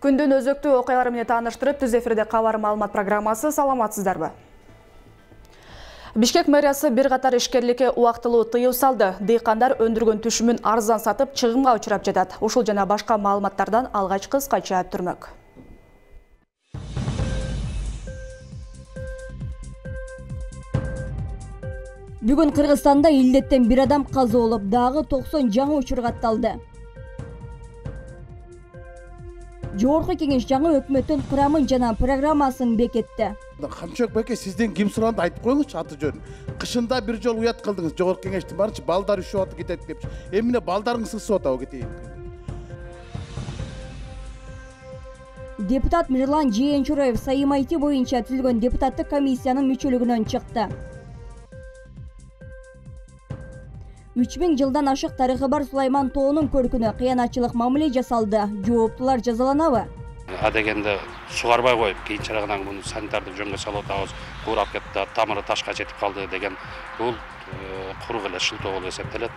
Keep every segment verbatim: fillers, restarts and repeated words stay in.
Күндүн өзөктүү окуялары менен тааныштырып, түз эфирде кабар маалымат программасы. Саламатсыздарбы? Бишкек мэриясы бир катар ишкерликке убактылуу тыюу салды. Дыйкандар өндүргөн түшүмүн арзан сатып, чыгымга учурап жатат. Ушул жана башка маалыматтардан алгач кыскача түрмөк. Бүгүн Кыргызстанда илдеттен бир адам каза болуп, дагы токсон жаңы учур катталды. Жогорку кеңеш жаңы өкмөттүн курамын жана программасын бекитти. Камчок беке, сизден ким суранды айтып коюңузчу аты жөнүн. Кышында бир жолу уят кылдыңыз, жогорку кеңештин барынча балдар үшүп атып кетет депчи. Эмне балдарыңыз ысып атабы кетейин. Депутат Мирлан Жээнчураев Сайым Айти боюнча түзүлгөн депутаттык комиссиянын мүчөлүгүнөн чыкты. үч миң жылдан ашык тарыхы бар Сулайман тоонун көркүнө кыянатчылык мамиле жасалды. Жооптулар жазаланабы? А дегенде сугарбай коюп, кийинчерээк муну санитардык жөнгө салып атабыз, куурап кетти, тамыры ташка жетип калды деген бул курук эле шылтоо болуп эсептелет.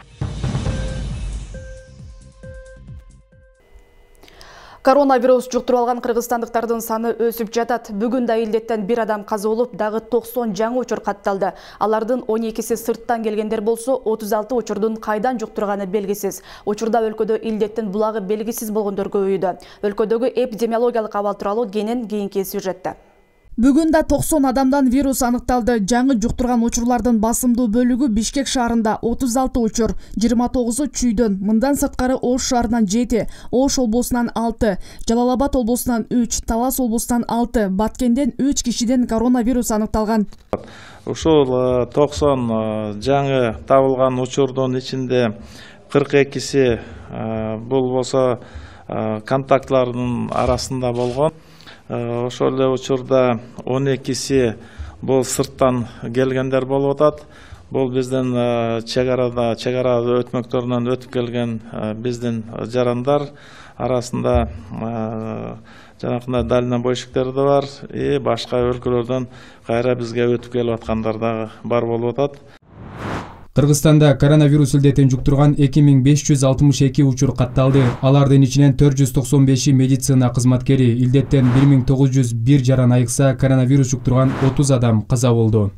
Коронавирус жуктуруп алган кыргызстандыктардын саны өсүп жатат. Бүгүн да илдеттен бир адам каза болуп, дагы токсон жаңы учур катталды. Алардын он экиси сырттан келгендер болсо, отуз алты учурдун кайдан жуктурганы белгисиз. Учурда өлкөдө илдеттин булагы белгисиз болгондор көбөйдү. Өлкөдөгү эпидемиологиялык абал тууралуу кенен кийинки сюжетте. Бүгүн да токсон адамдан вирус аныкталды. Жаңы жуктурган учурлардын басымдуу бөлүгү Бишкек шаарында отуз алты учур, жыйырма тогузу Чүйдөн, мындан сырткары Ош шаарынан жети, Ош облусунан алты, Жалал Абад облусунан үч, Талас облусунан алты, Баткенден үч кишиден коронавирус аныкталган. Ушул токсон жаңы табылган учурдун ичинде кырк экиси бул болсо контактлардын арасында болгон. Ошол эле учурда он экиси бул сырттан келгендер болуп атат. Бул биздин чек арада, чек ара өтмөктөрүнөн өтүп келген биздин жарандар арасында жанакындай дальнобойщиктер да бар, и башка өлкөлөрдөн кайра бизге өтүп келип аткандар да бар болуп атат. Кыргызстанда коронавирус илдетин жуктурган эки миң беш жүз алтымыш эки учур катталды. Алардын ичинен төрт жүз токсон беши медицина кызматкери. Илдеттен бир миң тогуз жүз бир жаран айыкса, коронавирус жуктурган отуз адам каза болду.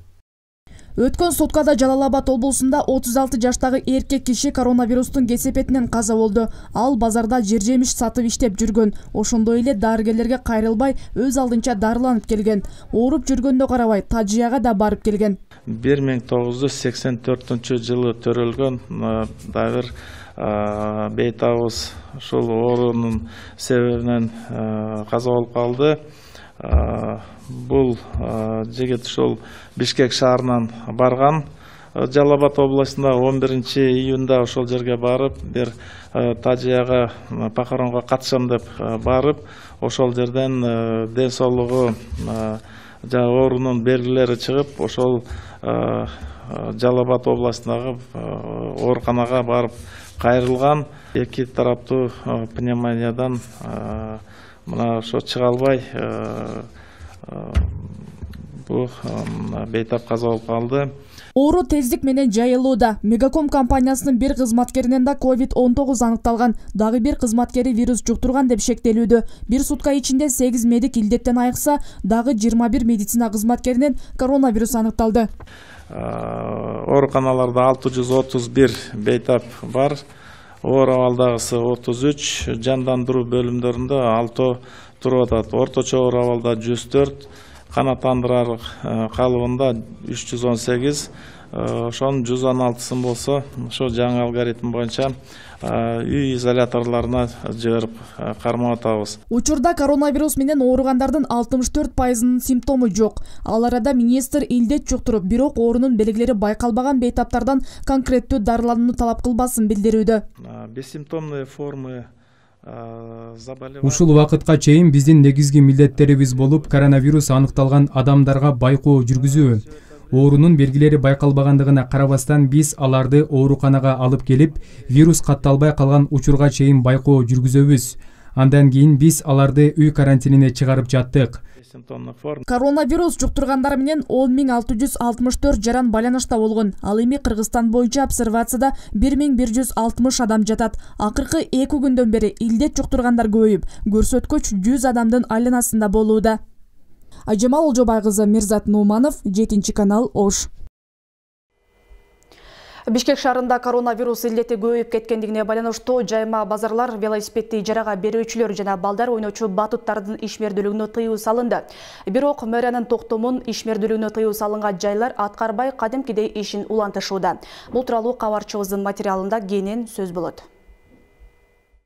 Өткөн суткада Жалал Абад облусунда отуз алты жаштагы эркек киши коронавирустун кесепетинен каза болду. Ал базарда жер-жемиш сатып иштеп жүргөн. Ошондой эле дарыгерлерге кайрылбай, өз алдынча дарыланып келген. Ооруп жүргөндө карабай, Тажияга да барып келген. бир миң тогуз жүз сексен төртүнчү жылы төрөлгөн дагы бир бейтабыз ушул оорунун себебинен каза болуп калды. Бул жигит ушул Бишкек шаарынан барган. Жалал Абад областында он биринчи июнда ошол жерге барып, бир Тажияга похоронго катышам деп барып, ошол жерден ден соолугу жана оорунун белгилери чыгып, ошол Жалал Абад областындагы ооруканага барып кайрылган. Эки тараптуу пневмониядан мына ошо чыга албай бул бейтап каза болуп калды. Оору тездик менен жайылууда. Мегаком компаниясынын бир кызматкеринен да ковид он тогуз аныкталган. Дагы бир кызматкери вирус жуктурган деп шектелүүдө. Бир сутка ичинде сегиз медик илдеттен айыкса, дагы жыйырма бир медицина кызматкеринен коронавирус аныкталды. Ооруканаларда алты жүз отуз бир бейтап бар. Оор абалдагысы отуз үч, жандандыруу бөлүмдөрүндө алты туруп атат. Орточо оор абалда жүз төрт, канааттандырар калыбында үч жүз он сегиз, ошонун жүз он алтысын болсо, ошо жаңы алгоритм боюнча үй изоляторлоруна жиберип кармап атабыз. Учурда коронавирус менен ооругандардын алтымыш төрт пайызынын симптому жок. Ал арада министр илдет жуктуруп, бирок оорунун белгилери байкалбаган бейтаптардан конкреттүү дарыланууну талап кылбасын билдирүүдө. Бессимптомные формы Ушул убакытка чейин биздин негизги милдеттерибиз болуп, коронавирус аныкталган адамдарга байкоо жүргүзүү. Оорунун белгилери байкалбагандыгына карабастан биз аларды ооруканага алып келип, вирус катталбай калган учурга чейин байкоо жүргүзөбүз. Андан кийин биз аларды үй карантинине чыгарып жаттык. Коронавирус жуктургандар менен он миң алты жүз алтымыш төрт жаран байланышта болгон. Ал эми Кыргызстан боюнча обсервацияда бир миң бир жүз алтымыш адам жатат. Акыркы эки күндөн бери илдет жуктургандар көбөйүп, көрсөткүч жүз адамдын айланасында болууда. Ажамал Олжобай кызы, Мирзат Нуманов, жетинчи канал, Ош. Бишкек шаарында коронавирус илдети көбөйүп кеткендигине байланыштуу жайма базарлар, велосипедди ижарага берүүчүлөр жана балдар ойночу батуттардын ишмердүүлүгүнө тыюу салынды. Бирок мэриянын токтомун ишмердүүлүгүнө тыюу салынган жайлар аткарбай кадимкидей ишин улантышууда. Бул тууралуу кабарчыбыздын материалында кенен сөз болот.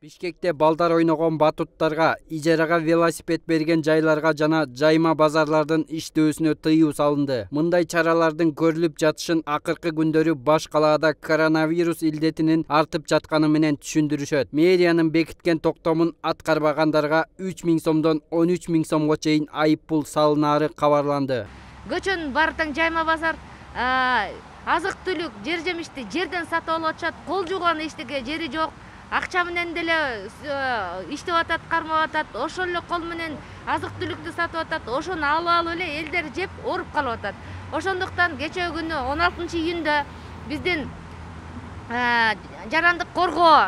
Бишкекте балдар ойногон батуттарга, ижарага велосипед берген жайларга жана жайма базарлардын иштөөсүнө тыюу салынды. Мындай чаралардын көрүлүп жатышын акыркы күндөрү баш калаада коронавирус илдетинин артып жатканы менен түшүндүрүшөт. Мэриянын бекиткен токтомун аткарбагандарга үч миң сомдон он үч миң сомго чейин айып пул салынаары кабарланды. Көчөнүн баары тең жайма базар, азык түлүк, жер жемишти жерден сатып алып атышат, кол жууган эчтеке жери жок. Акча менен деле иштеп атат, кармап атат, ошол эле кол менен азык түлүктү сатып атат, ошону алып алып эле элдер жеп ооруп калып атат. Ошондуктан кечээ күнү он алтынчы июнда биздин жарандык коргоо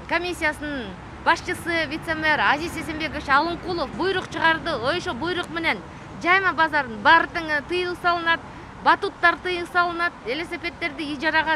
комиссиясынын башчысы вице-мэр Азиз Эсенбекович Алынкулов буйрук чыгарды. Ошо буйрук менен жайма базардын баары тең тыюу салынат, батуттар тыюу салынат, велосипеддерди ижарага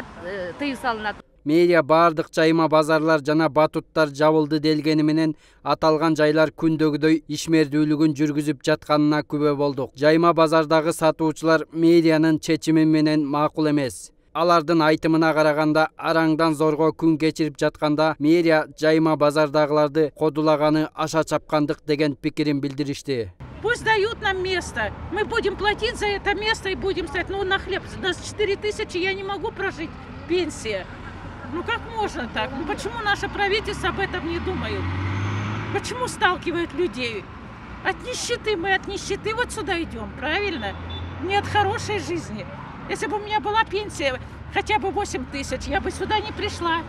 тыюу салынат. Мэрия баардык жайма базарлар жана батуттар жабылды делгени менен аталган жайлар күндөгүдөй ишмердүүлүгүн жүргүзүп жатканына күбө болдук. Жайма базардагы сатуучулар мэриянын чечими менен макул эмес. Алардын айтымына караганда араңдан зорго күн кечирип жатканда мэрия жайма базардагыларды кодулаганы аша чапкандык деген пикирин билдиришти. Пусть дают нам место. Мы будем платить за это место и будем стоять. Ну, на хлеб. У нас четыре тысячи, я не могу прожить. Пенсия. Ну как можно так? Ну почему наше правительство об этом не думает? Почему сталкивают людей? От нищеты, мы от нищеты вот сюда идем, правильно? Не от хорошей жизни. Если бы у меня была пенсия хотя бы восемь тысяч, я бы сюда не пришла.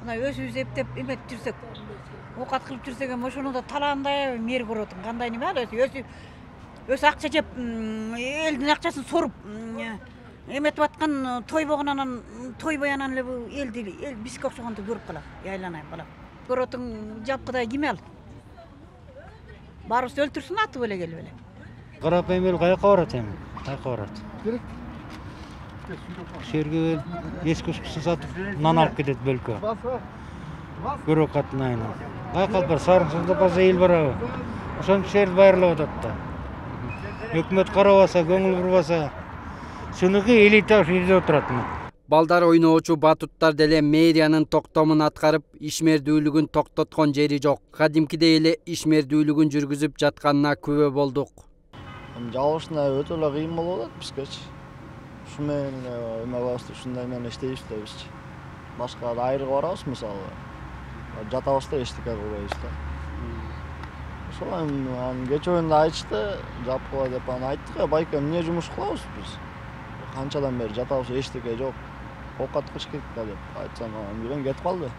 Өзүбүз эптеп эмет жүрсөк, окат кылып жүрсөк, ошону да талаандай мэр көрөт. Кандай неме ал өзү өзү акча жеп, элдин акчасын соруп эметип аткан той болгонан тойбой анан эле бул элди эл бизге окшогонду көрүп калат. Айланайын балам. Көрөтүң жапкыдай ким ал? Барыбызды өлтүрсүн атып эле келип эле. Карапайым эл каяка барат эми? Каяка барат? Шерге эски ушкусын сатып нан алып кетет бөлкө. Көрөк катын айынан. Каяка алып бар? Сарымсызда база эл барабы? Ошон кишилерди байырлап атат да. Өкмөт карабаса, көңүл бурбаса, сунуку элита үйдө отурат. Балдар ойноочу батуттар деле мэриянын токтомун аткарып, ишмердүүлүгүн токтоткон жери жок. Кадимкидей эле ишмердүүлүгүн жүргүзүп жатканына күбө болдук. Жабылышына өтө эле кыйын болуп атат бизгечи. Ушу менен эме кылабыз, ушундай менен иштейбиз да бизчи. Башка айрыга барабыз мисалы. Жатабыз да эчтеке кылбайбыз да. Ошол анан кечээ күндө айтышты, жапкыла деп анан айттык, байка эмне жумуш кылабыз биз? Канчадан бери жатабыз, эчтеке жок. Окат кыш кетти деп айтсам, анан бирен кетип калды.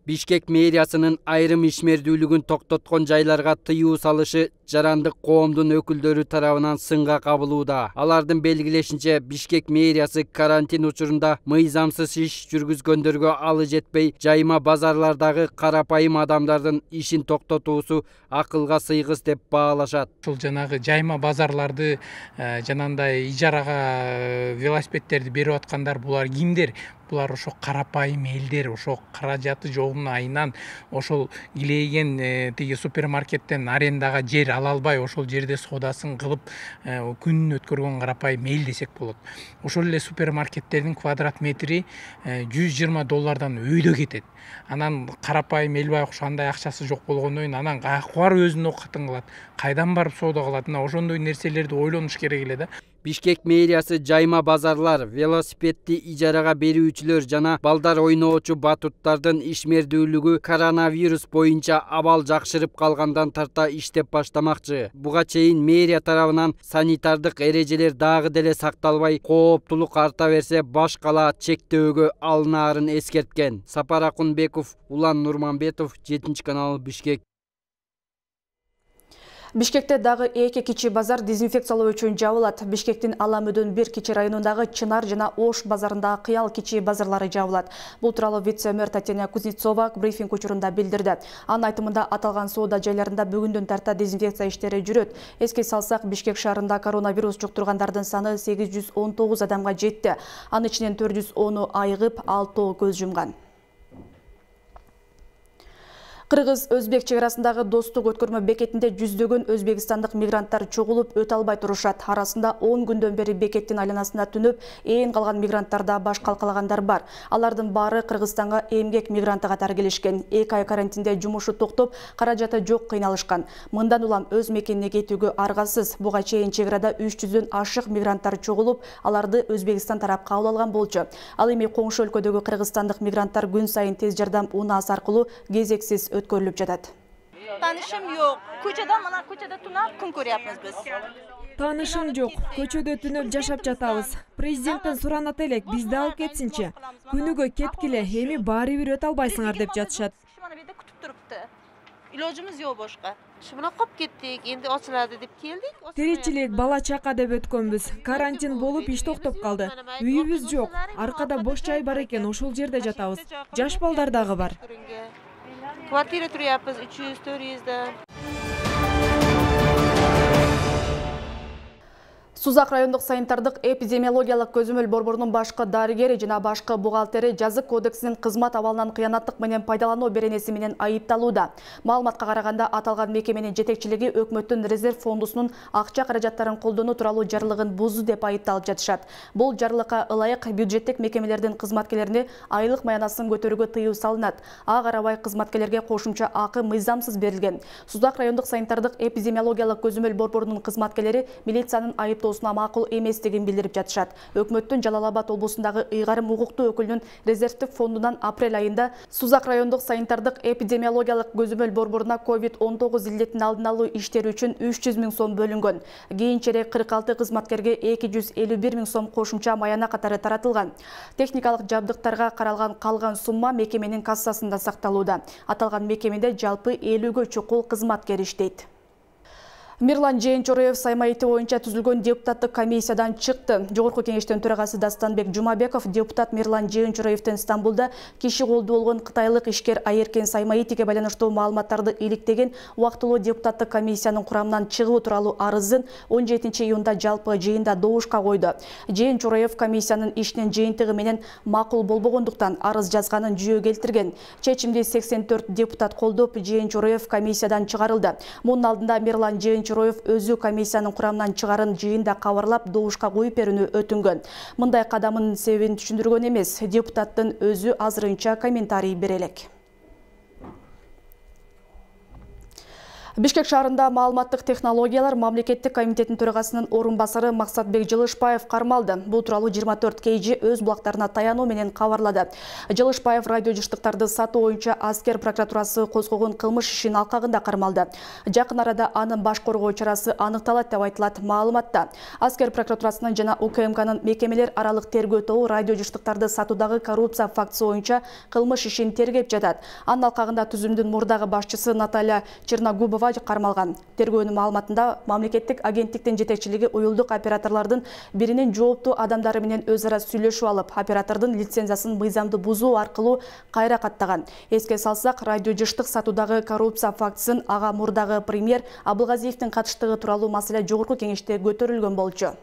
Бишкек мэриясынын айрым ишмердүүлүгүн токтоткон жайларга тыюу салышы жарандык коомдун өкүлдөрү тарабынан сынга кабылууда. Алардын белгилешинче, Бишкек мэриясы карантин учурунда мыйзамсыз иш жүргүзгөндөргө алы жетпей, жайма базарлардагы карапайым адамдардын ишин токтотуусу акылга сыйгыс деп баалашат. Ушул жанагы жайма базарларды жанагындай ижарага велосипедтерди берип аткандар булар кимдер? Булар ошо карапайым элдер, ошо каражаты жогун айынан ошол килейген тиги супермаркеттен арендага жер ала албай, ошол жерде соодасын кылып күнүн өткөргөн карапайым эл десек болот. Ошол эле супермаркеттердин квадрат метри жүз жыйырма доллардан өйдө кетет. Анан карапайым эл байкуш андай акчасы жок болгондон кийин анан каяка барып өзүнүн оокатын кылат, кайдан барып соода кылат? Ошондой нерселерди ойлонуш керек эле да. Бишкек мэриясы жайма базарлар, велосипедди ижарага берүүчүлөр жана балдар ойноочу батуттардын ишмердүүлүгү коронавирус боюнча абал жакшырып калгандан тарта иштеп баштамакчы. Буга чейин мэрия тарабынан санитардык эрежелер дагы деле сакталбай, кооптулук арта берсе баш кала чектөөгө алынаарын эскерткен. Сапар Акунбеков, Улан Нурманбетов, жетинчи канал, Бишкек. Бишкекте дагы эки кичи базар дезинфекциялоо үчүн жабылат. Бишкектин Аламөдөн бир кичи районундагы Чынар жана Ош базарындагы Кыял кичи базарлары жабылат. Бул тууралуу вице-мэр Татьяна Кузнецова брифинг учурунда билдирди. Анын айтымында аталган соода жайларында бүгүндөн тарта дезинфекция иштери жүрөт. Эске салсак, Бишкек шаарында коронавирус жуктургандардын саны сегиз жүз он тогуз адамга жетти. Анын ичинен төрт жүз onu айыгып, алтоо көз жумган. Кыргыз-Өзбек чек арасындагы достук өткөрмө бекетинде жүздөгөн өзбекстандык мигранттар чогулуп өтө албай турушат. Арасында он күндөн бери бекеттин айланасында түнөп, ээн калган мигранттарда баш калкалагандар бар. Алардын баары Кыргызстанга эмгек мигранты катары келишкен. эки ай карантинде жумушу токтоп, каражаты жок кыйналышкан. Мындан улам өз мекенине кетүүгө аргасыз. Буга чейин чек арада үч жүздөн ашык мигранттар чогулуп, аларды Өзбекстан тарап кабыл алган болчу. Ал эми коңшу өлкөдөгү кыргызстандык мигранттар күн сайын тез жардам унаасы аркылуу кезексиз өткөрүлүп жатат. Танышым жок. Көчөдө мына көчөдө тунап күн көрүпбүз биз. Танышым жок. Көчөдө түнөп жашап жатабыз. Президенттен суранат элек, бизди алып кетсинчи. Күнүгө кеткиле, эми баары бир өтө албайсыңар деп жатышат. Мына бирде күтүп турупту. Иложубуз жок бошко. Шымына коп кеттик, энди ачылады деп келдик. Тиричилик, бала чака деп өткөнбүз. Карантин болуп иш токтоп калды. Үйүбүз жок. Аркада бош жай бар экен, ошол жерде жатабыз. Жаш балдар дагы бар. Квартира турабыз үч жүз төрт жүздө. Сузак райондук санитардык эпидемиологиялык көзөмөл борборунун башкы дарыгери жана башкы бухгалтери жазык кодексинин кызмат абалынан кыянаттык менен пайдалануу беренеси менен айыпталууда. Маалыматка караганда аталган мекеменин жетекчилиги өкмөттүн резерв фондусунун акча каражаттарын колдонуу тууралуу жарлыгын бузду деп айыпталып жатышат. Бул жарлыкка ылайык бюджеттик мекемелердин кызматкерлерине айлык маянасын көтөрүүгө тыюу салынат. Ага карабай кызматкерлерге кошумча акы мыйзамсыз берилген. Сузак райондук санитардык эпидемиологиялык көзөмөл борборунун кызматкерлери милициянын айыптоо макул эместигин билдирип жатышат. Өкмөттүн Жалал Абад облусундагы ыйгарым укуктуу өкүлүнүн резервдик фондунан апрель айында Сузак райондук санитардык эпидемиологиялык көзөмөл борборуна ковид он тогуз илдетин алдын алуу иштери үчүн үч жүз миң сом бөлүнгөн. Кийинчерээк кырк алты кызматкерге эки жүз элүү бир миң сом кошумча маяна катары таратылган. Техникалык жабдыктарга каралган калган сумма мекеменин кассасында сакталууда. Аталган мекемеде жалпы элүүгө чукул кызматкер иштейт. Мирлан Жээнчороев саймайты боюнча түзүлгөн депутаттык комиссиядан чыкты. Жогорку кеңештин төрагасы Дастанбек Жумабеков депутат Мирлан Жээнчороевдин Стамбулда киши колду болгон кытайлык ишкер Айеркен Саймаитиге байланыштуу маалыматтарды иликтеген убактылуу депутаттык комиссиянын курамынан чыгуу тууралуу арызын он жетинчи июнда жалпы жыйында добушка койду. Жээнчороев комиссиянын ишинин жыйынтыгы менен макул болбогондуктан арыз жазганын жүйө келтирген. Чечимди сексен төрт депутат колдоп, Жээнчороев комиссиядан чыгарылды. Мунун алдында Мирлан Жээнчороев өзү комиссиянын курамынан чыгарын жыйында кабарлап добушка коюп берүүнү өтүнгөн. Мындай кадамынын себебин түшүндүргөн эмес. Депутаттын өзү азырынча комментарий бере элек. Бишкек шаарында маалыматтык технологиялар мамлекеттик комитетинин төрагасынын орун басары Максатбек Жылышбаев кармалды. Бул тууралуу жыйырма төрт кей жи өз булактарына таянуу менен кабарлады. Жылышбаев радио жыштыктарды сатуу боюнча аскер прокуратурасы козгогон кылмыш ишин алкагында кармалды. Жакын арада анын баш коргоо чарасы аныкталат деп айтылат маалыматта. Аскер прокуратурасынын жана У К М Кнын мекемелер аралык тергөө тобу радио жыштыктарды сатуудагы коррупция фактысы боюнча кылмыш ишин тергеп жатат. Анын алкагында түзүмдүн мурдагы башчысы Наталья Черногубова кармалган. Тергөөнүн маалыматында мамлекеттик агенттиктин жетекчилиги уюлдук операторлордун биринин жооптуу адамдары менен өз ара сүйлөшүп алып, оператордун лицензиясын мыйзамды бузуу аркылуу кайра каттаган. Эске салсак, радио жыштык сатуудагы коррупция фактысын ага мурдагы премьер Абылгазиевдин катыштыгы тууралуу маселе жогорку кеңеште көтөрүлгөн болчу.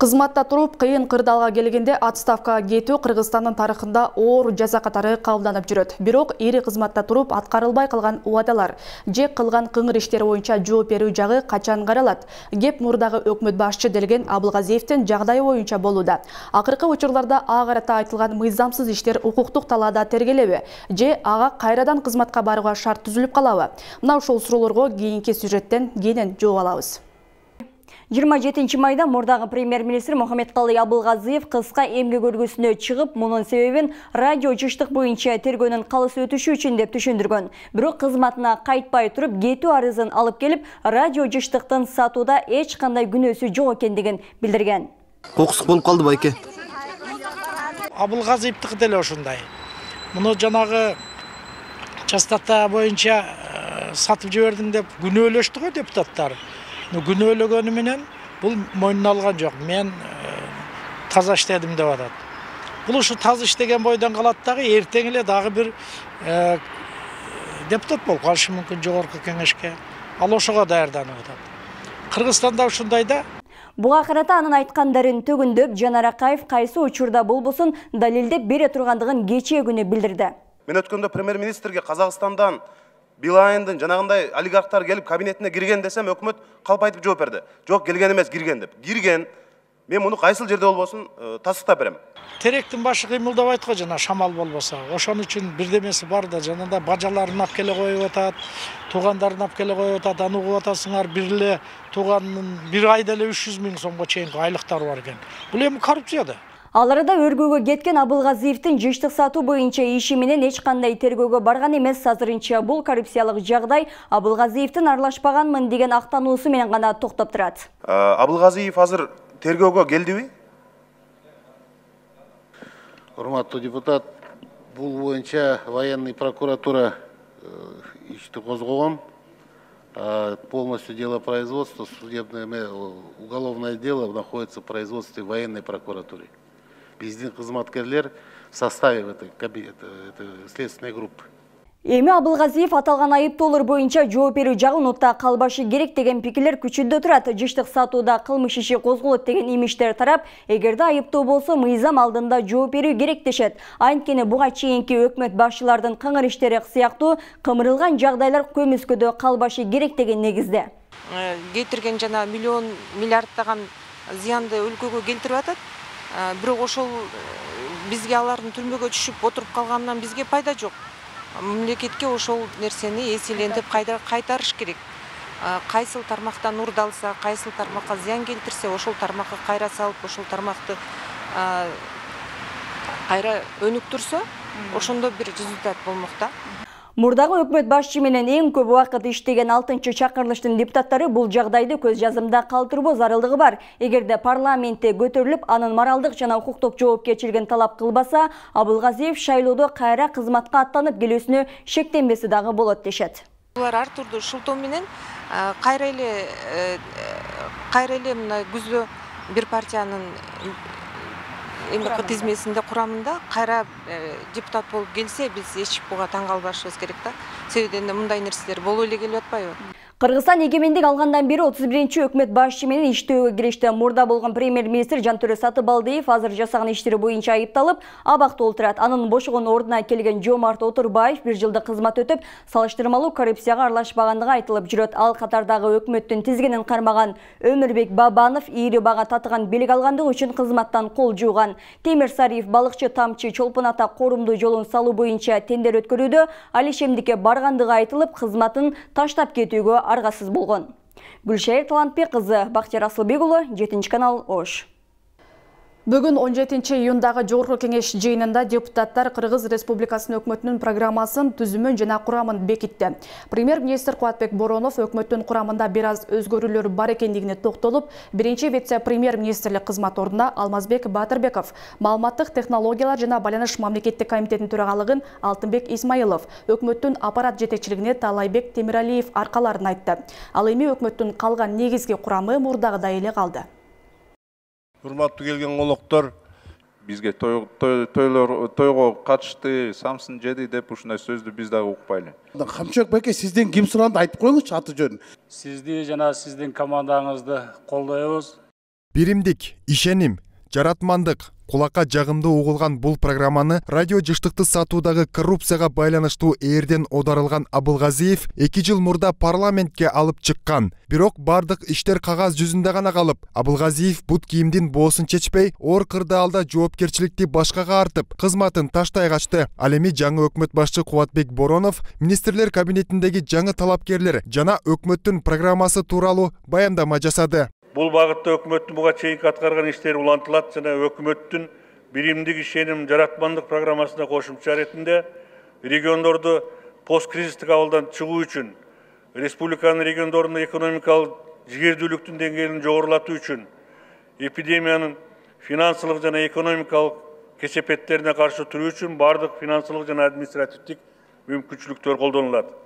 Кызматта туруп кыйын кырдаалга келгенде отставкага кетүү Кыргызстандын тарыхында оор жаза катары кабылданып жүрөт. Бирок ири кызматта туруп аткарылбай калган убадалар же кылган кыңыр иштери боюнча жооп берүү жагы качан каралат? Кеп мурдагы өкмөт башчы делген Абылгазиевдин жагдайы боюнча болууда. Акыркы учурларда ага карата айтылган мыйзамсыз иштер укуктук талаада тергелеби? Же ага кайрадан кызматка барууга шарт түзүлүп калабы? Мына ушул суроолорго кийинки сюжеттен кенен жооп алабыз. жыйырма жетинчи майда мурдагы премьер-министр Мухаммедкалый Абылгазиев кыска эмгек өргүсүнө чыгып, мунун себебин радио жыштык боюнча тергөөнүн калыс өтүшү үчүн деп түшүндүргөн. Бирок кызматына кайтпай туруп, кетүү арызын алып келип, радио жыштыктын сатууда эч кандай күнөөсү жок экендигин билдирген. Кокусук болуп калды байке. Абылгазиевдики деле ошондой. Муну жанагы частота боюнча сатып жибердиң деп күнөөлөштү го депутаттар. Күнөөлөгөнү менен бул мойнуна алган жок. Мен таза иштедим деп атат. Бул ушу таза иштеген бойдон калат дагы, эртең эле дагы бир депутат болуп калышы мүмкүн жогорку кеңешке. Ал ошого даярданып атат. Кыргызстанда ушундай да. Буга карата анын айткандарын төгүндөп, Жанар Акаев кайсы учурда болбосун далилдеп бере тургандыгын кечээ күнү билдирди. Мен өткөндө премьер-министрге Казакстандан Билайындын жанагындай олигархтар келип кабинетине кирген десем, өкмөт калп айтып жооп берди. Жок, келген эмес, кирген деп. Кирген. Мен муну кайсыл жерде болбосун тастыктап берем. Теректин башы кыймылдабайт го жана шамал болбосо. Ошон үчүн бирдемеси бар да, жанагындай бажаларын алып келе коюп атат, туугандарын алып келе коюп атат, аны угуп атасыңар, бир эле тууганын бир айда эле үч жүз миң сомго чейинки айлыктары бар экен. Бул эми коррупция да. Ал арада өргөөгө кеткен Абылгазиевдин жыштык сатуу боюнча иши менен эч кандай тергөөгө барган эмес. Азырынча бул коррупциялык жагдай Абылгазиевдин аралашпаганмын деген актануусу менен гана токтоп турат. Абылгазиев азыр тергөөгө келдиби? Урматтуу депутат, бул боюнча военный прокуратура ишти козгогон. Полностью дело производства, судебное, уголовное дело находится в производстве военной прокуратуры. Биздин кызматкерлер в составе этой следственной группы. Эми Абылгазиев аталган айыптоолор боюнча жооп берүү жагы унутта калбашы керек деген пикирлер күчүндө турат. Жыштык сатууда кылмыш иши козголот деген имиштер тарап, эгерде айыптоо болсо мыйзам алдында жооп берүү керек дешет. Анткени буга чейинки өкмөт башчылардын кыңыр иштери сыяктуу кымырылган жагдайлар көмүскөдө калбашы керек деген негизде. Кетирген жана миллион миллиарддаган зыянды өлкөгө келтирип атат. Бирок ошол бизге алардын түрмөгө түшүп отуруп калганынан бизге пайда жок. Мамлекетке ошол нерсени эселентип кайтарыш керек. Кайсыл тармактан урдалса, кайсыл тармакка зыян келтирсе, ошол тармакка кайра салып, ошол тармакты кайра өнүктүрсө, ошондо бир результат болмок да. Мурдагы өкмөт башчы менен эң көп убакыт иштеген алтынчы чакырылыштын депутаттары бул жагдайды көз жазымда калтырбоо зарылдыгы бар. Эгерде парламентте көтөрүлүп, анын моралдык жана укуктук жоопкерчилигин талап кылбаса, Абылгазиев шайлоодо кайра кызматка аттанып келүүсүнө шектенбеси дагы болот дешет. Булар ар турдуу шылтоо менен кайра эле кайра эле мына күздө бир партиянын тизмесинде курамында кайра депутат болуп келсе, биз эч буга таң калбашыбыз керек да. Себеби мындай нерселер болуп эле келип атпайбы? Кыргызстан эгемендик алгандан бери отуз биринчи өкмөт башчы менен иштөөгө киришти. Мурда болгон премьер-министр Жантөрө Сатыбалдиев азыр жасаган иштери боюнча айыпталып, абакта отурат. Анын бошогон ордуна келген Жомарт Отурбаев бир жылдык кызмат өтүп, салыштырмалуу коррупцияга аралашпагандыгы айтылып жүрөт. Ал катардагы өкмөттүн тизгинин кармаган Өмүрбек Бабанов ири бага татыган бийлик алгандыгы үчүн кызматтан кол жууган. Темир Сариев балыкчы Тамчы Чолпон ата корумдуу жолун салуу боюнча тендер өткөрүүдө Али Шемдикке баргандыгы айтылып, кызматын таштап кетүүгө аргасыз болгон. Гүлшайыр Талантбек кызы, Бактияр Асылбек уулу, жетинчи канал, Ош. Бүгүн он жетинчи июндагы жогорку кеңеш жыйынында депутаттар Кыргыз Республикасынын өкмөтүнүн программасын, түзүмүн жана курамын бекитти. Премьер-министр Кубатбек Боронов өкмөттүн курамында бир аз өзгөрүүлөр бар экендигине токтолуп, биринчи вице-премьер-министрлик кызмат ордуна Алмазбек Батырбеков, маалыматтык технологиялар жана байланыш мамлекеттик комитетинин төрагалыгын Алтынбек Исмаилов, өкмөттүн аппарат жетекчилигине Таалайбек Темиралиев аркаларын айтты. Ал эми өкмөттүн калган негизги курамы мурдагыдай эле калды. Урматтуу келген коноктор, бизге тойго катышты, самсын жеди деп ушундай сөздү биз дагы укпайлы. Камчок байке, сизден ким суранды айтып коюңузчу аты жөнүн. Сизди жана сиздин командаңызды колдойбуз. Биримдик, ишеним, жаратмандык, кулакка жагымдуу угулган бул программаны радио жыштыкты сатуудагы коррупцияга байланыштуу ээрден оодарылган Абылгазиев эки жыл мурда парламентке алып чыккан. Бирок бардык иштер кагаз жүзүндө гана калып, Абылгазиев бут кийимдин боосун чечпей, оор кырдаалда жоопкерчиликти башкага артып, кызматын таштай качты. Ал эми жаңы өкмөт башчы Кубатбек Боронов министрлер кабинетиндеги жаңы талапкерлер жана өкмөттүн программасы тууралуу баяндама жасады. Бул багытта өкмөттүн буга чейинки аткарган иштери улантылат жана өкмөттүн биримдик ишеним жаратмандык программасына кошумча иретинде региондорду посткризистик абалдан чыгуу үчүн, республиканын региондорунда экономикалык жигердүүлүктүн деңгээлин жогорулатуу үчүн, эпидемиянын финансылык жана экономикалык кесепеттерине каршы туруу үчүн бардык финансылык жана административдик мүмкүнчүлүктөр колдонулат.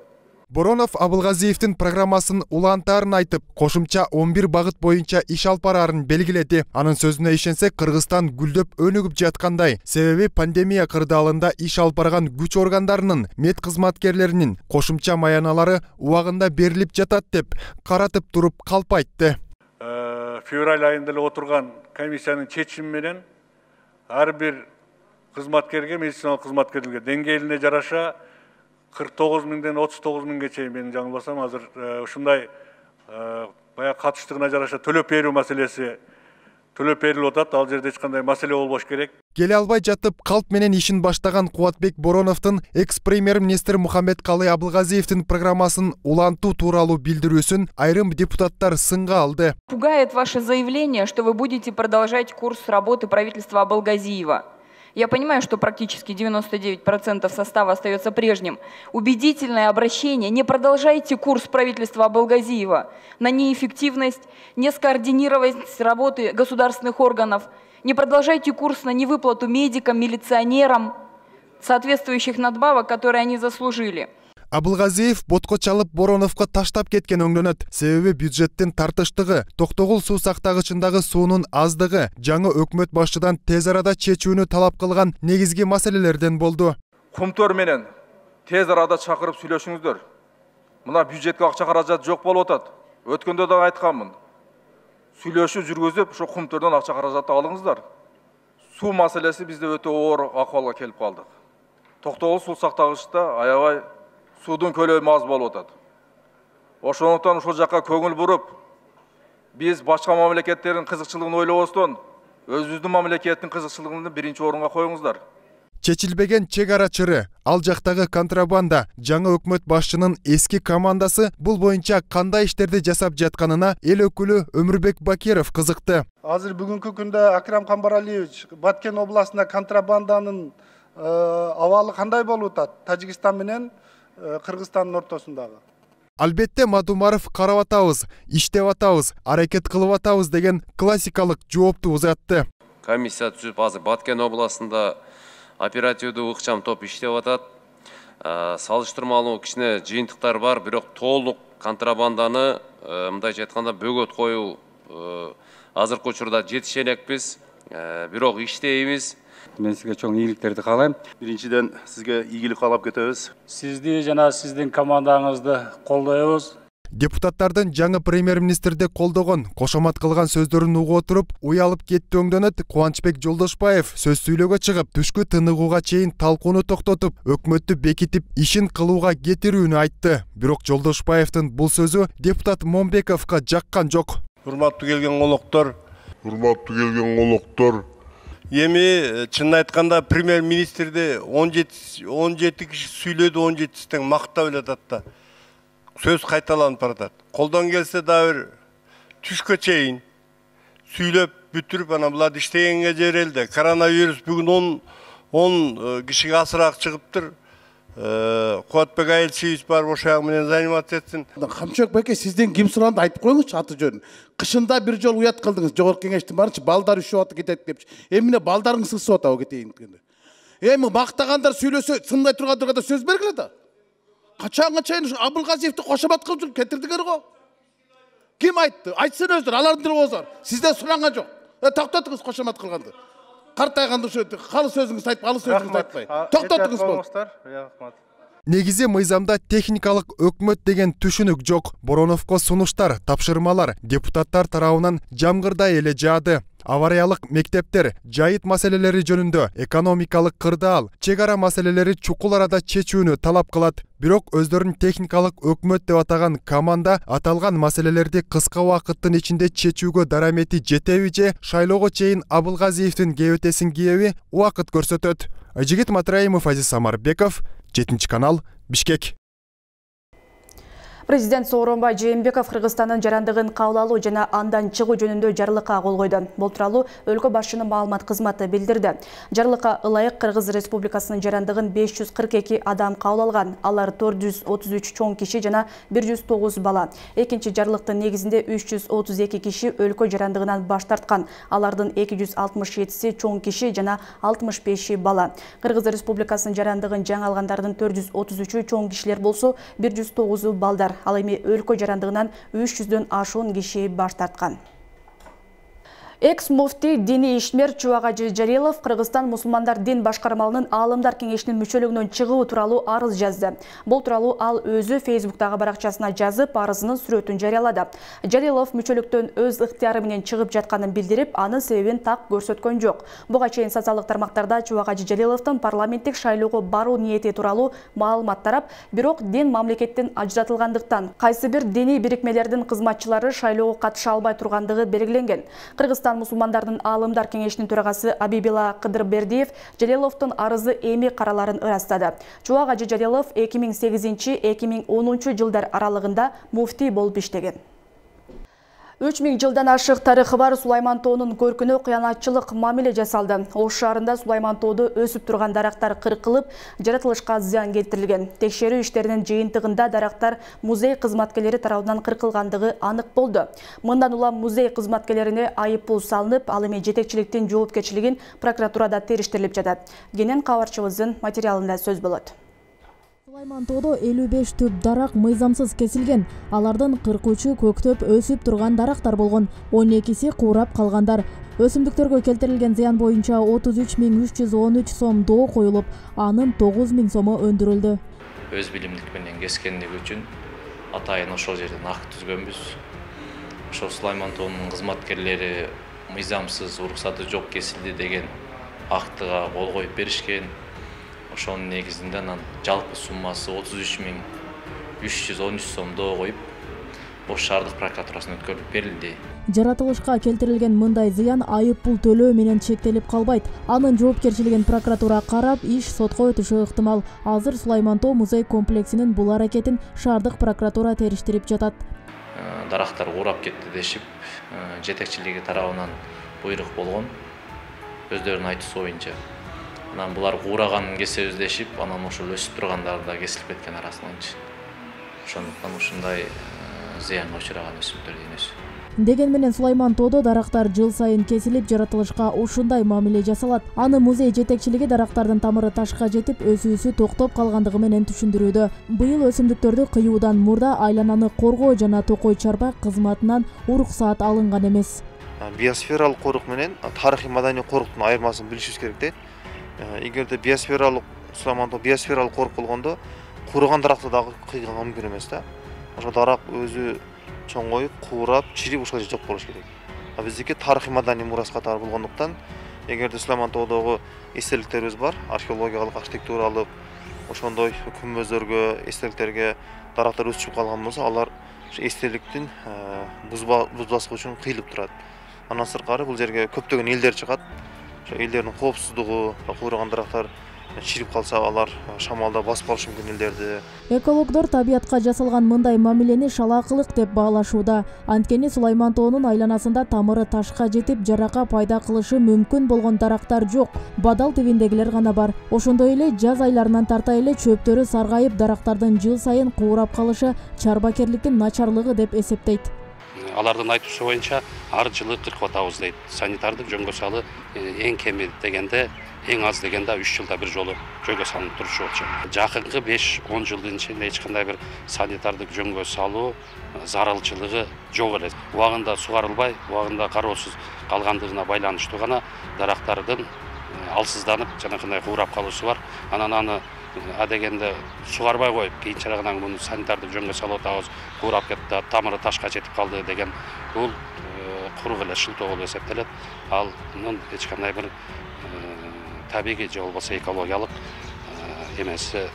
Боронов Абылгазиевдин программасын улантаарын айтып, кошумча он бир багыт боюнча иш алып бараарын белгиледи. Анын сөзүнө ишенсек, Кыргызстан гүлдөп өнүгүп жаткандай. Себеби пандемия кырдаалында иш алып барган күч органдарынын, мед кызматкерлеринин кошумча маяналары убагында берилип жатат деп каратып туруп калп айтты. Февраль айында эле отурган комиссиянын чечими менен ар бир кызматкерге, медициналык кызматкерлерге деңгээлине жараша кырк тогуз миңден отуз тогуз миңге чейин, мен жаңылбасам, азыр ушундай баягы катыштыгына жараша төлөп берүү маселеси төлөп берилип атат. Ал жерде эч кандай маселе болбош керек. Келе албай жатып калп менен ишин баштаган Кубатбек Бороновдун экс-премьер-министр Мухаммедкалый Абылгазиевдин программасын улантуу тууралуу билдирүүсүн айрым депутаттар сынга алды. Пугает ваше заявление, что вы будете продолжать курс работы правительства Абылгазиева. Я понимаю, что практически девяносто девять процентов состава остается прежним. Убедительное обращение: не продолжайте курс правительства Абылгазиева на неэффективность, нескоординированность работы государственных органов. Не продолжайте курс на невыплату медикам, милиционерам соответствующих надбавок, которые они заслужили. Абылгазиев ботко чалып Бороновго таштап кеткен өңдөнөт. Себеби бюджеттин тартыштыгы, Токтогул суу сактагычындагы суунун аздыгы жаңы өкмөт башчыдан тез арада чечүүнү талап кылган негизги маселелерден болду. Кумтөр менен тез арада чакырып сүйлөшүңүздөр. Мына бюджетке акча каражат жок болуп атат. Өткөндө да айтканмын. Сүйлөшүү жүргүзүп, ошо кумтөрдөн акча каражатты алыңыздар. Суу маселеси бизде өтө оор акыбалга келип калдык. Токтогул суу сактагычта аябай судун көлөмү аз болуп атат. Ошондуктан ошол жакка көңүл буруп, биз башка мамлекеттердин кызыкчылыгын ойлобостон, өзүбүздүн мамлекеттин кызыкчылыгын биринчи орунга коюңуздар. Чечилбеген чек ара чыры, ал жактагы контрабанда, жаңы өкмөт башчынын эски командасы бул боюнча кандай иштерди жасап жатканына эл өкүлү Өмүрбек Бакиров кызыкты. Азыр бүгүнкү күндө Акрам Камбаралиевич, Баткен областында контрабанданын абалы кандай болуп атат? Тажикстан менен Кыргызстандын ортосундагы. Албетте Мадумаров карап атабыз, иштеп атабыз, аракет кылып атабыз деген классикалык жоопту узатты. Комиссия түзүп, азыр Баткен областында оперативдүү ыкчам топ иштеп атат. Салыштырмалуу кичине жыйынтыктар бар, бирок толук контрабанданы, мындайча айтканда, бөгөт коюу азыркы учурда жетише элекпиз, бирок иштейбиз. Мен сизге чоң ийгиликтерди каалайм. Биринчиден сизге ийгилик каалап кетебиз. Сизди жана сиздин командаңызды колдойбуз. Депутаттардын жаңы премьер-министрди колдогон, кошомат кылган сөздөрүн угуп отуруп, уялып кетти өңдөнөт. Кубанычбек Жолдошбаев сөз сүйлөөгө чыгып, түшкү тыныгууга чейин талкууну токтотуп, өкмөттү бекитип, ишин кылууга кетирүүнү айтты. Бирок Жолдошбаевдин бул сөзү депутат Момбековго жаккан жок. Урматтуу келген колоктор, урматтуу келген колоктор, эми чынын айтканда премьер-министрди он жети киши сүйлөдү, он жетиси тең мактап эле атат да. Сөз кайталанып баратат. Колдон келсе да бир түшкө чейин сүйлөп бүтүрүп, анан буларды иштегенге жерелди. Коронавирус бүгүн он кишиге асыраак чыгыптыр. Кубатбек Айылчиевич бар, ошол менен заниматься этсин. Камчок байке, сизден ким суранды айтып коюңузчу аты жөнүн. Кышында бир жол уят кылдыңыз, жогорку кеңештин барынча балдар üşүп атып кетет депчи. Эмне балдарыңыз сысып атабы кетейин дегенде. Эми мактагандар сүйлөсө, сындай тургандарга да сөз бергиле да. Качанга чейин Абылгазиевди кошомат кылып жүрүп кетирдиңер го. Ким айтты? Айтсын өздөр, алардын тили болсо. Сизден суранган жок. Токтотуңуз кошомат кылганды. Картайганды ошо калы сөзүңүздү айтып, алы сөзүңүздү айтпай. Токтотуңуз болду. Негизи мыйзамда техникалык өкмөт деген түшүнүк жок. Бороновго сунуштар, тапшырмалар депутаттар тарабынан жамгырдай эле жаады. Авариялык мектептер, жайыт маселелери жөнүндө экономикалык кырдаал, чек ара маселелери чукул арада чечүүнү талап кылат. Бирок өздөрүн техникалык өкмөт деп атаган команда аталган маселелерди кыска убакыттын ичинде чечүүгө дарамети жетеби же шайлоого чейин Абылгазиевдин кебетесин киеби убакыт көрсөтөт. Айжигит Матраимов, Азиз Самарбеков, жетинчи канал, Бишкек. Президент Сооронбай Жээнбеков Кыргызстандын жарандыгын кабыл алуу жана андан чыгуу жөнүндө жарлыкка кол койду. Бул тууралуу өлкө башчынын маалымат кызматы билдирди. Жарлыкка ылайык Кыргыз Республикасынын жарандыгын беш жүз кырк эки адам кабыл алган. Алар төрт жүз отуз үч чоң киши жана бир жүз тогуз бала. Экинчи жарлыктын негизинде үч жүз отуз эки киши өлкө жарандыгынан баш тарткан. Алардын эки жүз алтымыш жетиси чоң киши жана алтымыш беши бала. Кыргыз Республикасынын жарандыгын жаңы алгандардын төрт жүз отуз үчү чоң кишилер болсо, бир жүз тогузу балдар. Ал эми өлкө жарандыгынан үч жүздөн ашуун киши баш тарткан. Экс-муфти диний ишмер Чубагажы Жалилов Кыргызстан мусулмандар дин башкармалынын аалымдар кеңешинин мүчөлүгүнөн чыгуу тууралуу арыз жазды. Бул тууралуу ал өзү Фейсбуктагы баракчасына жазып, арызынын сүрөтүн жарыялады. Жалилов мүчөлүктөн өз ыктыяры менен чыгып жатканын билдирип, анын себебин так көрсөткөн жок. Буга чейин социалдык тармактарда Чубагажы Жалиловдун парламенттик шайлоого баруу ниети тууралуу маалымат тарап, бирок дин мамлекеттен ажыратылгандыктан кайсы бир диний бирикмелердин кызматчылары шайлоого катыша албай тургандыгы белгиленген. Кыргызстан мусулмандардын аалымдар кеңешинин төрагасы Абибила Кыдырбердиев Жалиловдун арызы эми караларын ырастады. Чубагажы Жалилов эки миң сегизинчи — эки миң онунчу жылдар аралыгында муфтий болуп иштеген. үч миң жылдан ашык тарыхы бар Сулайман тоонун көркүнө кыянатчылык мамиле жасалды. Ош шаарында Сулайман тоодо өсүп турган дарактар кыркылып, жаратылышка зыян келтирилген. Текшерүү иштеринин жыйынтыгында дарактар музей кызматкерлери тарабынан кыркылгандыгы анык болду. Мындан улам музей кызматкерлерине айыппул салынып, ал эми жетекчиликтин жоопкерчилигин прокуратурада териштирилип жатат. Кенен кабарчыбыздын материалында сөз болот. Сулайман тоодо элүү беш түп дарак мыйзамсыз кесилген. Алардын кырк үчү көктөп өсүп турган дарактар болгон. он экиси куурап калгандар. Өсүмдүктөргө келтирилген зыян боюнча отуз үч миң үч жүз он үч сом доо коюлуп, анын тогуз миң сому өндүрүлдү. Өз билимдик менен кескендик үчүн атайын ошол жерден акт түзгөнбүз. Ошол Сулайман тоонун кызматкерлери мыйзамсыз, уруксаты жок кесилди деген актыга кол коюп беришкен. Ошонун негизинде анан жалпы суммасы отуз үч миң үч жүз он үч сом доо коюп, Ош шаардык прокуратурасына өткөрүлүп берилди. Жаратылышка келтирилген мындай зыян айып пул төлөө менен чектелип калбайт. Анын жоопкерчилигин прокуратура карап, иш сотко өтүшү ыктымал. Азыр Сулайман тоо музей комплексинин бул аракетин шаардык прокуратура териштирип жатат. Дарактар куурап кетти дешип, жетекчилиги тарабынан буйрук болгон. Өздөрүнүн айтуусу боюнча. Анан булар куураганын кесебиз дешип, анан ошол өсүп тургандар да кесилип кеткен арасынан. Ошондуктан ушундай зыянга учураган өсүмдүктөр денеси. Деген менен Сулайман тоодо дарактар жыл сайын кесилип, жаратылышка ушундай мамиле жасалат. Аны музей жетекчилиги дарактардын тамыры ташка жетип, өсүүсү токтоп калгандыгы менен түшүндүрүүдө. Быйыл өсүмдүктөрдү кыюудан мурда айлананы коргоо жана токой чарбак кызматынан уруксаат алынган эмес. Биосфералык корук менен тарыхый маданий коруктун айырмасын билишибиз керек да. Эгерде биосфералык Сулайман тоо биосфералык корук болгондо куураган даракты дагы кыйганга мүмкүн эмес да. Ошо дарак өзү чоңоюп, куурап, чирип ушул жерде жок болуш керек. А биздики тарыхый маданий мурас катары болгондуктан, эгерде Сулайман тоодогу эстеликтерибиз бар, археологиялык, архитектуралык, ошондой күмбөздөргө, эстеликтерге дарактар өсүп калган болсо, алар эстеликтин бузбаслыгы үчүн кыйылып турат. Андан сырткары бул жерге көптөгөн элдер чыгат. Ошо элдердин коопсуздугу, куураган дарактар чирип калса, алар шамалда басып калышы мүмкүн элдерди. Экологдор табиятка жасалган мындай мамилени шалаакылык деп баалашууда. Анткени Сулайман тоонун айланасында тамыры ташка жетип, жарака пайда кылышы мүмкүн болгон дарактар жок. Бадал тибиндегилер гана бар. Ошондой эле жаз айларынан тарта эле чөптөрү саргайып, дарактардын жыл сайын куурап калышы чарбакерликтин начарлыгы деп эсептейт. Алардын айтуусу боюнча ар жылы кыркып атабыз дейт. Санитардык жөнгө салы эң кеми дегенде, эң аз дегенде үч жылда бир жолу жөнгө салынып турушу болчу. Жакынкы беш он жылдын ичинде эч кандай бир санитардык жөнгө салуу зарылчылыгы жок эле. Убагында сугарылбай, убагында кароосуз калгандыгына байланыштуу гана дарактардын алсызданып жанакындай куурап калуусу бар. Анан аны адегенде сугарбай коюп, кийинчерээк муну санитардык жөнгө салып атабыз, куурап кетти, тамыры ташка жетип калды деген бул курук эле шылтоо болуп эсептелет. Анын эч кандай бир табигый же болбосо экологиялык эмеси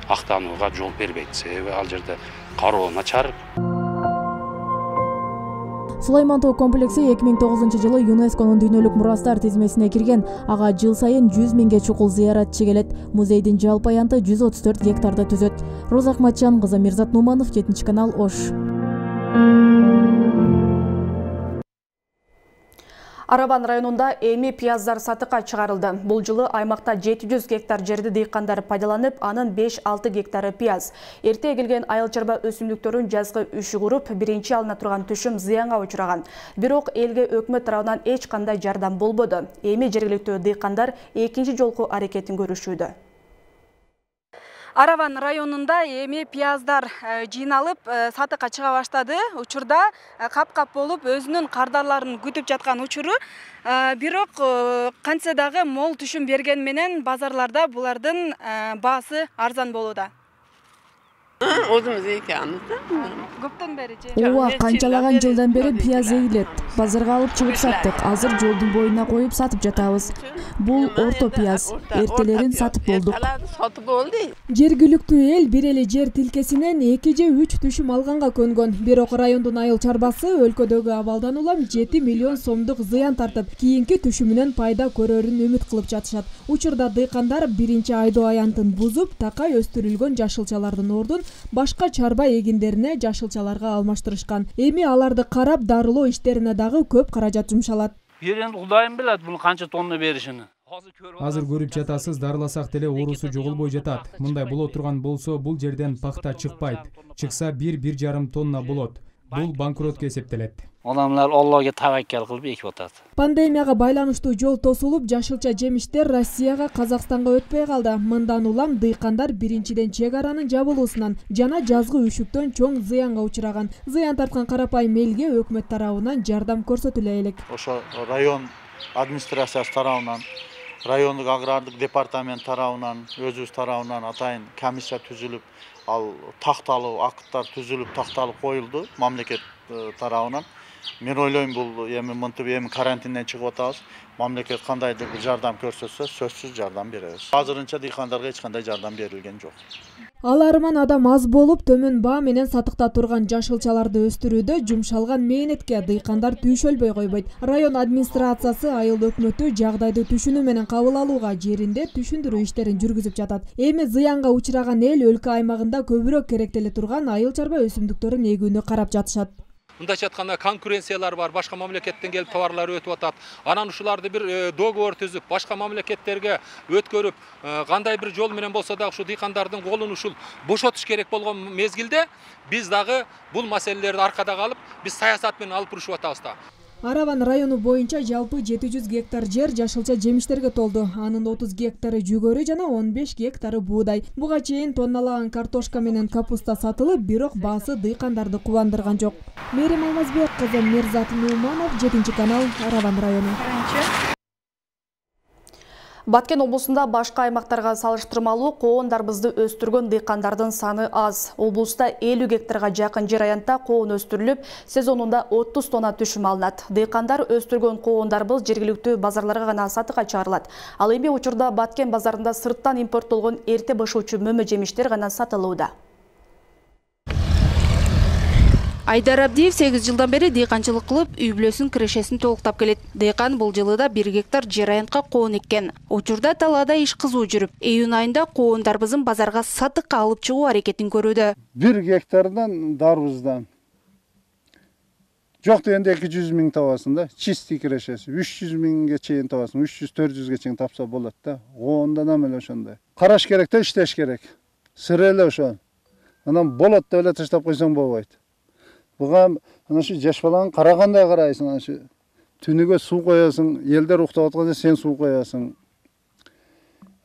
актанууга жол бербейт. Себеби ал жерде кароо начар. Сулайман тоо комплекси эки миң тогузунчу жылы ЮНЕСКОнун дүйнөлүк мурастар тизмесине кирген. Ага жыл сайын жүз миңге чукул зыяратчы келет. Музейдин жалпы аянты жүз отуз төрт гектарды түзөт. Роза Акматжан кызы, Мирзат Нуманов, жетинчи канал, Ош. Араван районунда эми пияздар сатыкка чыгарылды. Бул жылы аймакта жети жүз гектар жерди дыйкандар пайдаланып, анын беш алты гектары пияз. Эрте эгилген айыл-чарба өсүмдүктөрүн жазгы үшүгүрүп, биринчи алына турган түшүм зыянга учураган. Бирок элге өкмөт тарабынан эч кандай жардам болбоду. Эми жергиликтүү дыйкандар экинчи жолку аракетин көрүшүүдө. Араван районунда эми пияздар жыйналып сатыкка чыга баштады. Учурда кап-кап болуп өзүнүн кардарларын күтүп жаткан учуру. Бирок кантсе дагы мол түшүм берген менен базарларда булардын баасы арзан болууда. Өзүмүз эки анысы. Көптөн бери же? Ооба, канчалаган жылдан бери пияз эгилет. Базарга алып чыгып саттык. Азыр жолдун боюна коюп сатып жатабыз. Бул орто пияз. Эртелерин сатып болдук. Сатып болду. Жергиликтүү эл бир эле жер тилкесинен эки же үч түшүм алганга көнгөн. Бирок райондун айыл чарбасы өлкөдөгү абалдан улам жети миллион сомдук зыян тартып, кийинки түшүмүнөн пайда көрөрүн үмүт кылып жатышат. Учурда дыйкандар биринчи айдоо аянтын бузуп, такай өстүрүлгөн жашылчалардын ордун башка чарба эгиндерине жашылчаларга алмаштырышкан. Эми аларды карап, дарылоо иштерине дагы көп каражат жумшалат. Берен Кудайым билет буну канча тонна беришини. Азыр көрүп жатасыз, дарыласак деле оорусу жоголбой жатат. Мындай боло турган болсо, бул жерден пахта чыкпайт. Чыкса бир бир жарым тонна болот. Бул банкротко эсептелет. Адамдар Аллага таваккал кылып экип атат. Пандемияга байланыштуу жол тосулуп, жашылча жемиштер Россияга, Казакстанга өтпөй калды. Мындан улам дыйкандар биринчиден чек аранын жабылуусунан жана жазгы үшүктөн чоң зыянга учураган. Зыян тарткан карапайым элге өкмөт тарабынан жардам көрсөтүлө элек. Ошо район администрациясы тарабынан, райондук агрардык департамент тарабынан, өзүбүз тарабынан атайын комиссия түзүлүп, ал такталуу акыттар түзүлүп, такталып коюлду мамлекет тарабынан. Мен ойлойм бул эми мынтип эми карантинден чыгып атабыз. Мамлекет кандайдыр бир жардам көрсөтсө, сөзсүз жардам беребиз. Азырынча дыйкандарга эч кандай жардам берилген жок. Аларман адам аз болуп, төмөн баа менен сатыкта турган жашылчаларды өстүрүүдө жумшалган мээнетке дыйкандар түйшөлбөй койбойт. Район администрациясы айыл өкмөтү жагдайды түшүнүү менен кабыл алууга, жеринде түшүндүрүү иштерин жүргүзүп жатат. Эми зыянга учураган эл өлкө аймагында көбүрөөк керектеле турган айыл чарба өсүмдүктөрүн эгүүнү карап жатышат. Мындайча айтканда конкуренциялар бар, башка мамлекеттен келип товарлар өтүп атат. Анан ушуларды бир договор түзүп, башка мамлекеттерге өткөрүп, кандай бир жол менен болсо да ушу дыйкандардын колун ушул бошотуш керек болгон мезгилде биз дагы бул маселелерди аркада калып, биз саясат менен алып урушуп атабыз да. Араван району боюнча жалпы жети жүз гектар жер жашылча жемиштерге толду. Анын отуз гектары жүгөрү жана он беш гектары буудай. Буга чейин тонналаган картошка менен капуста сатылып, бирок баасы дыйкандарды кубандырган жок. Мерим Алмазбек кызы, Мирзат Нуманов, жетинчи канал, Араван району. Баткен облусунда башка аймактарга салыштырмалуу коондарбызды өстүргөн дыйкандардын саны аз. Облуста элүү гектарга жакын жер аянтта коон өстүрүлүп, сезонунда отуз тонна түшүм алынат. Дыйкандар өстүргөн коондарбыз жергиликтүү базарларга гана сатыкка чыгарылат. Ал эми учурда Баткен базарында сырттан импорттолгон эрте бышуучу мөмө жемиштер гана сатылууда. Айдар Абдиев сегиз жылдан бери дыйканчылык кылып, үй бүлөсүнүн кирешесин толуктап келет. Дыйкан бул жылы да бир гектар жер аянтка коон эккен. Учурда талаада иш кызуу жүрүп, июнь айында коондарбызын базарга сатыкка алып чыгуу аракетин көрүүдө. бир гектардан дарбыздан жок дегенде эки жүз миң табасың да, чистый кирешеси. үч жүз миңге чейин табасың, үч жүз төрт жүзгө чейин тапса болот да. Коондан эле ошондой. Караш керек да, иштеш керек. Сыр эле ошо. Анан болот деп эле таштап койсоң болбойт. Буга ana şu жаш баланы карагандай карайсың, ana şu түнүгө суу коясың, элдер уктап атканда сен суу коясың.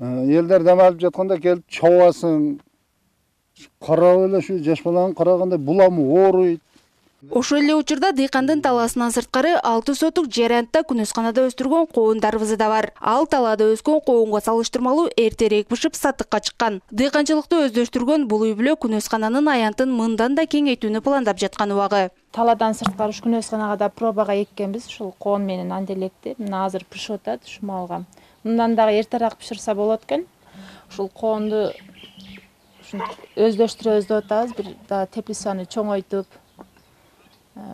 Элдер дем алып жатканда келип чобасың. Карап эле şu жаш баланы карагандай буламы ооруйт. Ошол эле учурда дыйкандын талаасынан сырткары алты сотук жер аянтта күнөсканада өстүргөн коондарыбызы да бар. Ал талаада өскөн коонго салыштырмалуу эртерээк бышып сатыкка чыккан. Дыйканчылыкты өздөштүргөн бул үй бүлө күнөскананын аянтын мындан да кеңейтүүнү пландап жаткан убагы. Таладан сырткары ушу күнөсканага да пробага эккенбиз, ушул коон менен анделекти. Мына азыр пишип атат ушу малга. Мындан дагы эртерээк биширсе болот экен. Ушул коонду өздөштүрөбүз деп атабыз, бир да теплицаны чоңойтуп,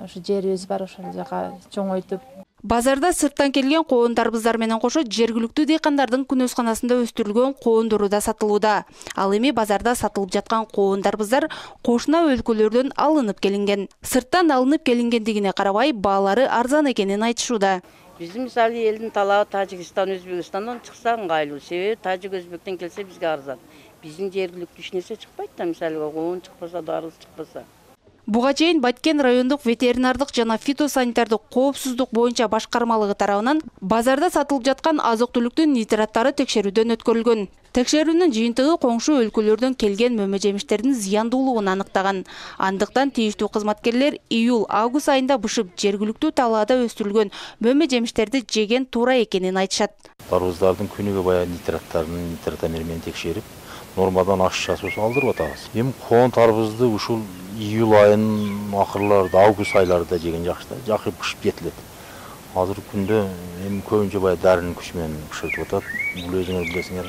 ушу жерибиз бар, ошол жака чоңойтуп. Базарда сырттан келген коондарыбыздар менен кошо жергиликтүү дыйкандардын күнөсканасында өстүрүлгөн коондору да сатылууда. Ал эми базарда сатылып жаткан коондарыбыздар кошуна өлкөлөрдөн алынып келинген. Сырттан алынып келингендигине карабай, баалары арзан экенин айтышууда. Биздин мисалы элдин талабы Тажикстан, Өзбекстандан чыкса ыңгайлуу. Себеби Тажик, Өзбектен келсе бизге арзан. Биздин жергиликтүү эч нерсе чыкпайт да, мисалы коон чыкпаса, дарыз чыкпаса. Буга чейин Баткен райондук ветеринардык жана фитосанитардык коопсуздук боюнча башкармалыгы тарабынан базарда сатылып жаткан азык-түлүктүн нитраттары текшерүүдөн өткөрүлгөн. Текшерүүнүн жыйынтыгы коңшу өлкөлөрдөн келген мөмө жемиштердин зыяндуулугун аныктаган. Андыктан тийиштүү кызматкерлер июль-август айында бышып жергиликтүү талаада өстүрүлгөн мөмө жемиштерди жеген туура экенин айтышат. Тарыбыздардын күнүгө баягы нитраттарын нитратомер менен текшерип, нормадан ашышасыбызды алдырып атабыз. Эми коон тарыбызды ушул июль айынын акырларында, август айларында жеген жакшы да, жакшы бышып жетилет. Азыркы күндө эми көбүнчө баягы дарынын күчү менен бышыртып атат. Бул өзүңөр билесиңер,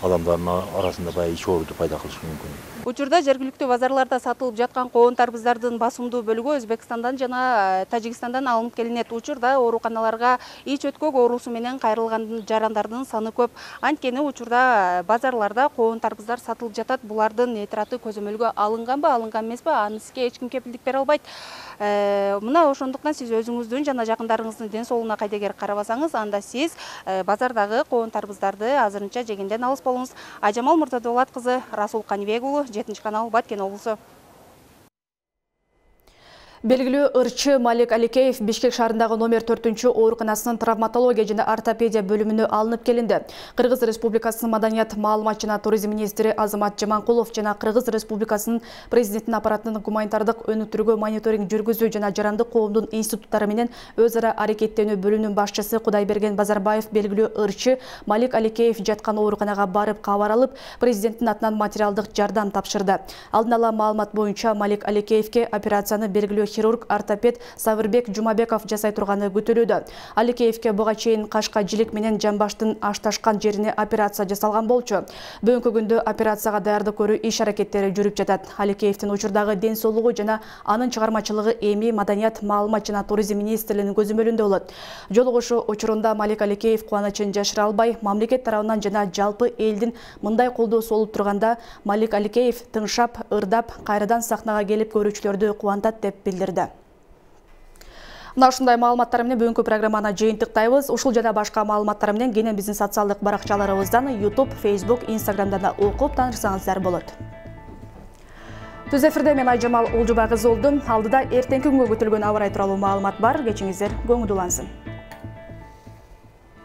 адамдардын арасында баягы ич ооруду пайда кылышы мүмкүн. Учурда жергиликтүү базарларда сатылып жаткан коондарыбыздардын басымдуу бөлүгү Өзбекстандан жана Тажикстандан алынып келинет. Учурда ооруканаларга ич өткөк оорусу менен кайрылган жарандардын саны көп. Анткени учурда базарларда коондарыбыздар сатылып жатат. Булардын нитраты көзөмөлгө алынганбы, алынган эмеспи, аныске эч ким кепилдик бере албайт. Мына ошондуктан сиз өзүңүздүн жана жакындарыңыздын ден соолугуна кайдегер карабасаңыз, анда сиз базардагы коондарыбыздарды азырынча жегенден алыс болуңуз. Айжамал Муртадулат кызы, Расул Канибек уулу, жетинчи канал, Баткен облусу. Белгилүү ырчы Малик Аликеев Бишкек шаарындагы номер төртүнчү ооруканасынын травматология жана ортопедия бөлүмүнө алынып келинди. Кыргыз Республикасынын маданият, маалымат жана туризм министри Азамат Жаманкулов жана Кыргыз Республикасынын президентинин аппаратынын гуманитардык өнүктүрүүгө мониторинг жүргүзүү жана жарандык коомдун институттары менен өз ара аракеттенүү бөлүмүнүн башчысы Кудайберген Базарбаев белгилүү ырчы Малик Аликеев жаткан ооруканага барып кабар алып, президенттин атынан материалдык жардам тапшырды. Алдын ала маалымат боюнча Малик Аликеевке операцияны белгилүү хирург ортопед Сабырбек Жумабеков жасай турганы күтүлүүдө. Аликеевке буга чейин кашка жилик менен жамбаштын ашташкан жерине операция жасалган болчу. Бүгүнкү күндө операцияга даярдык көрүү иш аракеттери жүрүп жатат. Аликеевдин учурдагы ден соолугу жана анын чыгармачылыгы эми маданият, маалымат жана туризм министрлигинин көзөмөлүндө болот. Жолугушуу учурунда Малик Аликеев кубанычын жашыра албай, мамлекет тарабынан жана жалпы элдин мындай колдоосу болуп турганда, Малик Аликеев тыңшап, ырдап, кайрадан сахнага келип көрүүчүлөрдү кубантат деп билдирди. Мына ушундай маалыматтар менен бүгүнкү программаны жыйынтыктайбыз. Ушул жана башка маалыматтар менен кенен биздин социалдык баракчаларыбыздан YouTube, Facebook, Instagram'dan да окуп таанышсаңыздар болот. Түз эфирде мен Айжамал Олжубай кызы болдум. Алдыда эртеңки күнгө күтүлгөн аба ырайы тууралуу маалымат бар. Кечиңиздер көңүл улансын.